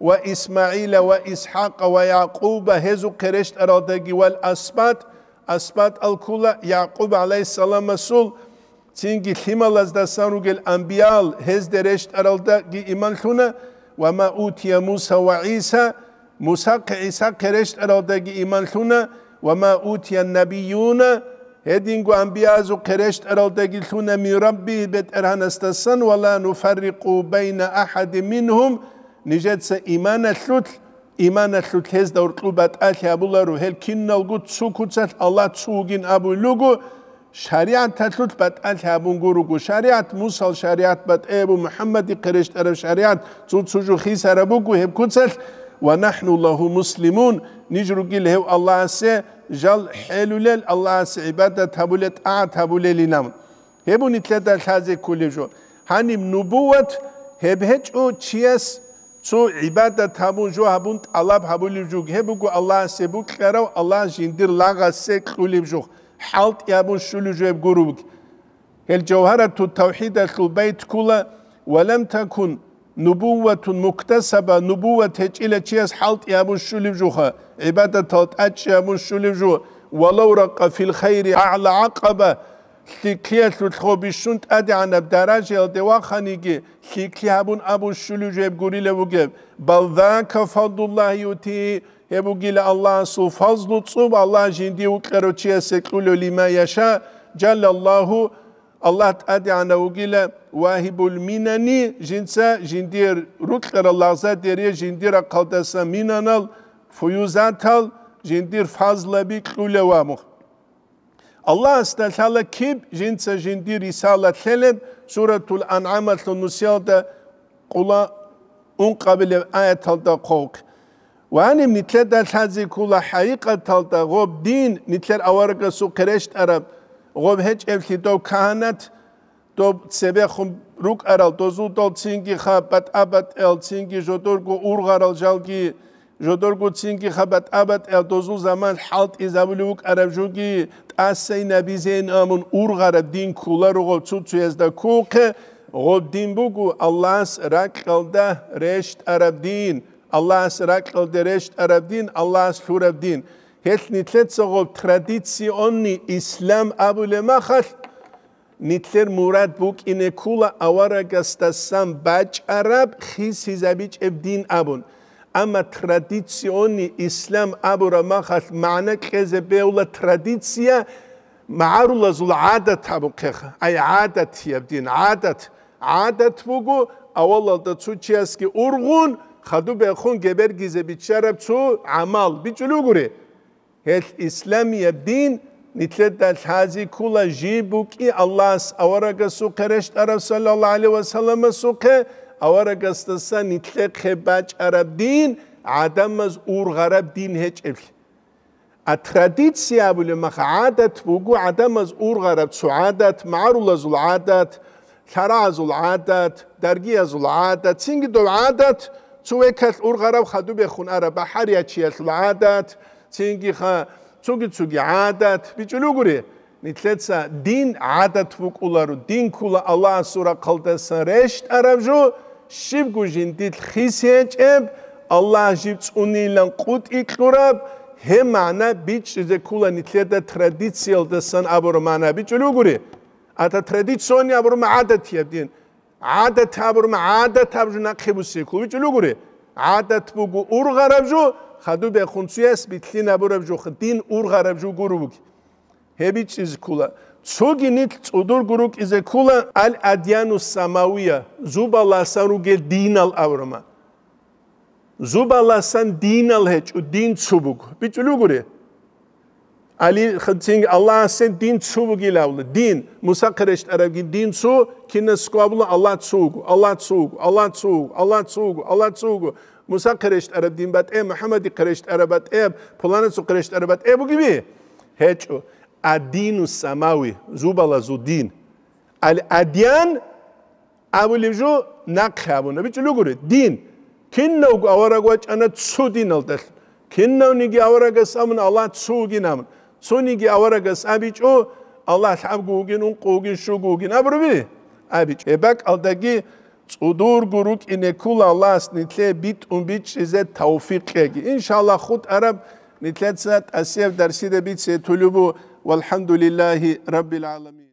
ва ИсмагӀила ва ИсхӀакъа ва Якъуба», гьезухъе рещтӀаралдаги, «вал асбат», асбат алккула Якъуб гӀалайгьиссаламасул, цинги лъималаздасан ругел анбиял, гьезде рещтӀаралдаги иман лъуна, «ва ма утия Муса ва ГӀиса», Мусахъе, ГӀисахъе рещтӀаралдаги иман лъуна, «ва ма утия набиюна», гьединго анбиязухъе рещтӀаралдаги лъуна, «мин Рабби», БетӀергьанасдасан, «ва ла нуфаррикъу байна ахӀадин мингьум», нижеца иманалъулъ, иманалъулъ гьезда гьоркьоб батӀалъи гьабуларо, гьел киналго цо куцалъ Аллагь цо вугин абулел руго, шаригӀаталъулъ батӀалъи гьабун гуруго. ШаригӀат, Мусал шаригӀат батӀияб, МухӀаммадихъе рещтӀараб шаригӀат цо-цо жо хисараб буго гьеб куцалъ, «ва нахӀну лагьу муслимун», ниж ругел гьев Аллагьасе жал хӀелулел, Аллагьасе гӀибадат гьабулел, тӀагӀат гьабулелилан. Гьеб нилъеда лъазе кколеб жо. Гьаниб нубувват гьеб гьечӀо чияс цо гӀибадат гьабун, жо гьабун, тӀалаб гьабулеб жуг. Гьеб буго Аллагьасе букьарав, Аллагь жиндир лагъасе кьулеб жух, хӀалтӀи гьабун щулеб жо гьеб гуро буго. Гьел Жавгьарату Тавхидалъул байт ккула: «Ва лам такун нубувватун муктасаба», нубувват гьечӀила чияс хӀалтӀи гьабун щулеб жуха, гӀибадатал тӀачӀи гьабун щулеб жо, «валав ракъа фил хайри аъла гӀакъаба», лъикӀлъиялъулъго бищун тӀадегӀанаб даражаялде ваханиги, лъикӀлъи гьабун абун щулеб жеб гурила вугеб. «Бал зака фадлуллагьи юти», гьеб бугила Аллагьасул фазлу цӀуб, Аллагь жиндие вукьарав чиясе кьулев, «лима яша», жаллаллагьу, Аллагь тӀадегӀанав вугила вагьибул минани, жинца жиндир рукьарал лагъзадере жиндир рахъалдаса минанал, фуюзатал, жиндир фазлаби кьулев абун. Аллагьасда лъала киб жинца жиндир рисалат лъелеб, Суратул АнгӀамалъул нусиялда къула ункъабилеб аяталда хъвалхъ. Ва гьаниб нилъеда лъазе ккола хӀакъикъаталда гъоб дин, нилъер аварагасухъе рещтӀараб гъоб гьечӀеблъи дов кагьанат, доб цебехун рукӀарал, дозул дол цинги ха батӀа-батӀел, цинги жодорго ургъарал жалги, жодорго цинги ха батӀа-батӀел, дозул заман хӀалтӀизабулев вукӀараб жуги, тӀасайнабизейин амун ургъараб дин кколаро гъоб цо-цоязда ккухъе, гъоб дин буго Аллагьас ракьалда рещтӀараб дин, Аллагьас ракьалда рещтӀараб дин, Аллагьас лъураб дин. Гьелъ нилъеца гъоб традиционный ислам абулеб махалъ, нилъер мурад букӀине ккола аварагасдасан бачӀараб хисизабичӀеб дин абун. Амма традиционный ислам абураб махалъ магӀна кьезе бегьула традиция магӀарулазул гӀадат абухъеха. Ай, гӀадатияб дин, гӀадат. ГӀадат буго авалалда цо чиясги ургъун, хадуб бехун гебергизе биччараб цо гӀамал. БичӀулев гури. Гьелъ исламияб дин нилъеда лъази ккола жиб букӀи Аллагьас аварагасухъе рещтӀараб, саллаллагьу гӀалайгьи ва салламасухъе, аварагасдаса нилъехъе бачӀараб дин, гӀадамаз ургъараб дин гьечӀеблъи. А традиция абулеб маха гӀадат буго гӀадамаз ургъараб цо гӀадат, магӀарулазул гӀадат, лъарагӀазул гӀадат, даргиязул гӀадат, цинги дов гӀадат, цо векалъ ургъараб хадуб бехун араб бахӀариячиялъул гӀадат, цинги ха цоги-цоги гӀадат, бичӀулев гури. Нилъеца дин гӀадат букӀуларо, дин ккула Аллагьасул рахъалдасан рещтӀараб жо, щибго жиндилъ хис гьечӀеб, Аллагь жиб цӀунилан къутӀи кьураб, гьеб магӀна бичӀчӀизе ккула нилъеда традициялдасан абураб магӀна, бичӀулев гури. Ата традиционный абураб гӀадатияб дин. ГӀадат абураб гӀадат аб жо нахъе буссеккул, бичӀулев гури. ГӀадат буго ургъараб жо, хадуб бехун цояс билълъин абураб жо, дин ургъараб жо гуро буги. Гьеб бичӀчӀизе ккула. Цоги нилъ цӀудурго рукӀизе ккула аль-адьяну самавия, зубаласан ругел динал абураб. Зубаласан динал гьечӀо, дин цо буго. БичӀулев гури. Али, цинги Аллагьасен дин цо бугилавла. Дин, Мусахъе рещтӀарабги дин цо, кинасго абула Аллагь цо вуго, Аллагь цо вуго, Аллагь цо вуго, Аллагь цо вуго, Аллагь цо вуго. Мусахъе рещтӀараб дин батӀе, МухӀаммадихъе рещтӀараб батӀе, пуланасухъе рещтӀараб батӀе бугеби? ГьечӀо. Адину самави, зубалазул дин. Аль-адьян абулеб жо нахъе абуна, бичӀулев гури, дин. Кинавго авараг вачӀана цо диналдалъун. Кинавниги аварагас абуна Аллагь цо вугин абун. Цониги аварагас абичӀо, Аллагь лъабго вугин, ункъо вугин, щуго вугин абурабили? АбичӀо. Гьеб бакӀалдаги цӀудурго рукӀине ккула Аллагьас нилъее битӀун бичӀчӀизе тавфикъ кьеги. Иншаллагь, хутӀараб нилъеца тӀасияб дарсида бице тулеб бу. Валхамдулиллагьи раббил гӀаламин.